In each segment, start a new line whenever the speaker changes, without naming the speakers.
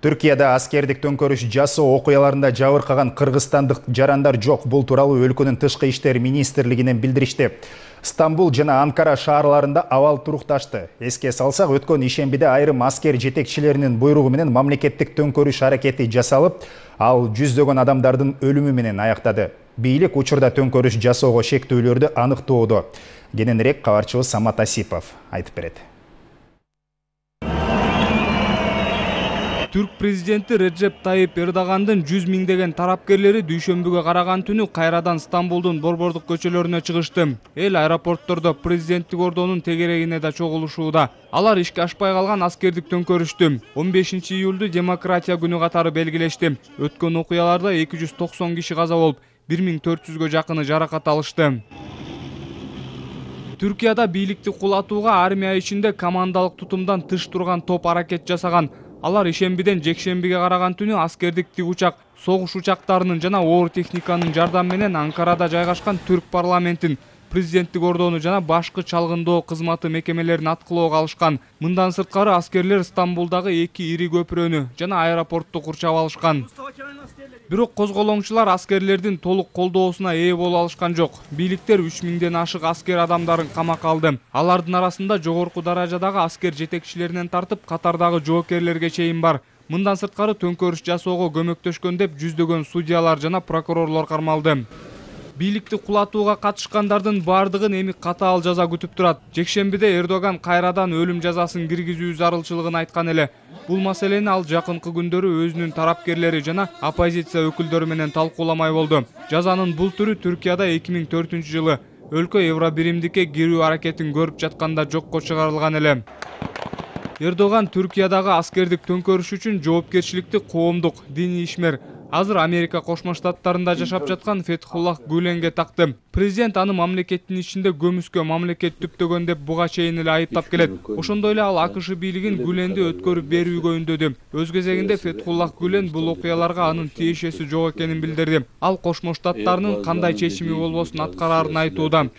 Түркияда аскердик төңкөрүш жасоо окуяларында жабыркаган кыргызстандык жарандар жок. Бул тууралуу өлкөнүн тышкы иштер министрлигинен билдиришти. Стамбул жана Анкара шаарларында абал турукташты. Эске салсак, өткөн ишембиде айрым аскер жетекчилеринин буйругу менен мамлекеттик төңкөрүш аракети жасалып, ал жүздөгөн адамдардын өлүмү менен аяктады. Бийлик учурда төңкөрүш жасоого шектүүлөрдү аныктоодо. Кененирээк кабарчыбыз Самат Асипов айтып берет.
Түрк президенти Реджеп Тайип Эрдогандын 100 миңдеген тарапкерлери дүйшөмбүгө караган түнү кайрадан Стамбулдун борбордук көчөлөрүнө чыгышты. Эл аэропорттордо президенттик ордонун тегерегине да чогулушууда. Алар ишке ашпай калган аскердик төңкөрүштү 15 июлду демократия күнү катары белгилешти. Өткөн окуяларда 290 киши каза болуп, 1400гө жакыны жаракат алышты. Түркияда бийликти кулатууга армия ичинде командалык тутумдан тыш турган топ аракет жасаган. Алар ишембиден жекшембиге караган түнү аскердик тигучак, согуш учактарынын жана оор техниканын жардамы менен Анкарада жайгашкан Түрк парламентин, президенттик ордону жана башкы чалгындоо кызматы мекемелерин аткылоого алышкан. Мындан сырткары аскерлер Стамбулдагы 2 ири көпүрөнү жана аэропортту курчап алышкан. Бирок козголоңчулар аскерлердин толук колдоосуна ээ боло алышкан жок. Бийликтер 3000ден ашык аскер адамдарын камакка алды. Алардын арасында жогорку даражадагы аскер жетекчилеринен тартып, катардагы жоокерлерге чейин бар. Мындан сырткары төңкөрүш жасоого көмөктөшкөн деп жүздөгөн судьялар жана прокурорлор кармалды. Бийликти кулатууга катышкандардын бардыгын эми катаал жаза күтүп турат. Жекшембиде Эрдоган кайрадан өлүм жазасын киргизүү зарылчылыгын айткан эле. Бул маселени ал жакынкы күндөрү өзүнүн тарапкерлери жана оппозиция өкүлдөрү менен талкууламай болду. Жазанын бул түрү Түркияда 2004-жылы өлкө Евробиримдикке кирүү аракетин көрүп жатканда жокко чыгарылган эле. Эрдоган Түркиядагы аскердик төңкөрүш үчүн жоопкерчиликти коомдук, диний ишмер, азыр Америка Кошмо Штаттарында жашап жаткан Фетхуллах Гүленге такты. Президент аны мамлекеттин ичинде көмүскө мамлекет түптөгөн деп буга чейин эле айыптап келет. Ошондой эле ал АКШ бийлигин Гүленди өткөрүп берүүгө үндөдү. Өз кезегинде Фетхуллах Гүлен бул окуяларга анын тиешеси жок экенин билдирди. Ал Кошмо Штаттарынын кандай чечими болбосун аткараарын айтууда.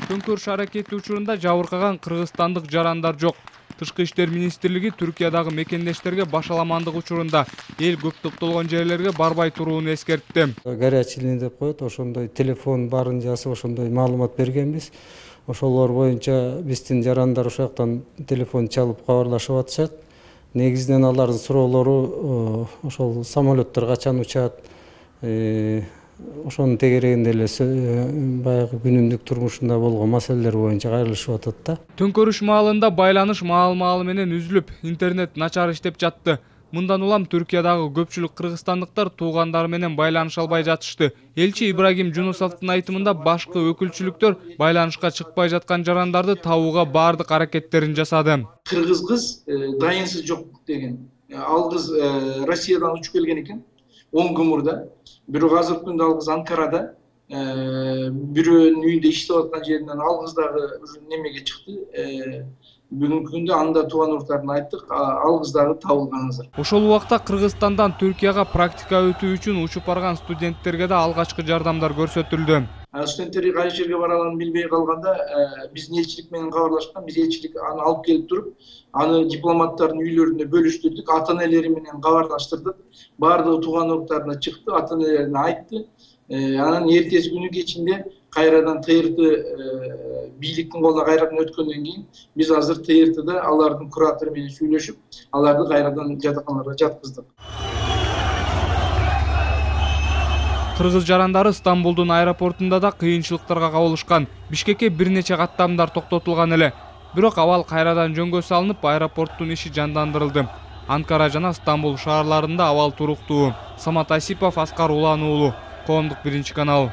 Төңкөрүш аракети учурунда жабыркаган кыргызстандык жарандар жок. Тышкы иштер министрлиги Түркиядагы мекендештерге башаламандык учурунда эл көп топтолгон жерлерге барбай турууну эскертти.
Горячий деп коет, ошондой телефон барын жазып, ошондой маалымат бергенбиз. Ошолор боюнча биздин жарандар ошол жактан телефон чалып кабарлашып атышат. Негизинен алардын суроолору ошол самолеттор качан учат, ошонун тегерегинде эле баягы күнүмдүк турмушунда болгон маселелер боюнча кайрылышып атат да.
Төңкөрүш маалында байланыш маал-маалы менен үзүлүп, интернет начар иштеп жатты. Мындан улам Түркиядагы көпчүлүк кыргызстандыктар туугандары менен байланыша албай жатышты. Элчи Ибрагим Жунусовдун айтымында башкы өкүлчүлүктөр байланышка чыкпай жаткан жарандарды табууга бардык аракеттерин жасады.
Кыргыз кыз дайынсыз жок деген. Ал кыз Россиядан учуп келген экен. 10 күн мурда. Бирок азыркы күндө ал кыз Анкарада, бирөөнүн үйүндө иштеп аткан жеринен ал кыз дагы немеге чыкты. Бүгүнкү күндө анда тууган уруктарына айттык, ал кыз дагы табылган азыр.
Ошол убакта Кыргызстандан Түркияга практика өтүү үчүн учуп барган студенттерге да алгачкы жардамдар көрсөтүлдү.
Студенттерге кайсы жерге барганын билбей калганда биздин элчилик менен кабарлашкан, биз элчилик аны алып келип туруп, аны дипломаттардын үйлөрүндө бөлүштүрдүк, ата-энелери менен кабарлаштырдык. Бардыгы тууган уруктарына чыкты, ата-энелерине айтты. Анан эртеси күнү кечинде кайрадан ТРТ бийликтин колуна кайрадан өткөндөн кийин биз азыр ТРТда алардын куратору менен сүйлөшүп, аларды кайрадан жатаканага жаткыздык.
Кыргыз жарандары Стамбулдун аэропортунда да кыйынчылыктарга кабылышкан. Бишкекке бир нече каттамдар токтотулган эле. Бирок абал кайрадан жөнгө салынып, аэропорттун иши жандандырылды. Анкара жана Стамбул шаарларында абал туруктуу. Самат Асипов, Аскар Улан уулу, Коомдук 1 канал.